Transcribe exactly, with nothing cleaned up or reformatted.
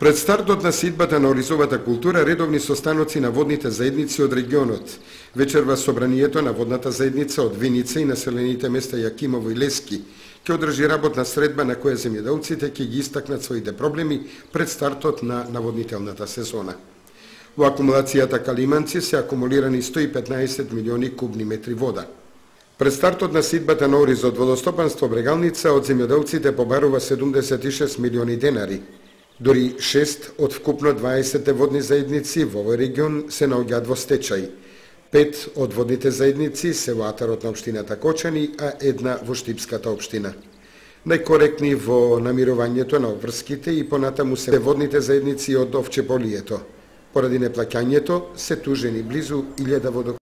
Пред стартот на сидбата на оризовата култура, редовни состаноци на водните заедници од регионот. Вечерва собранието на водната заедница од Виница и населените места Јакимово и Лески ќе одржи работна средба на која земјоделците ќе ги истакнат своите проблеми пред стартот на наводнителната сезона. Во акумулацијата Калиманци се акумулирани сто и петнаесет милиони кубни метри вода. Пред стартот на сидбата на ориз од водостопанство Брегалница од земјоделците побарува седумдесет и шест милиони денари. Дори шест од вкупно дваесет водни заедници во овој регион се наоѓаат во стечај. Пет од водните заедници се во атарот на општината Кочани, а една во Штипската општина. Најкоректни во намирувањето на обврските и понатаму се водните заедници од Овчеполието. Поради неплаќањето се тужени близу илјада водопроводи.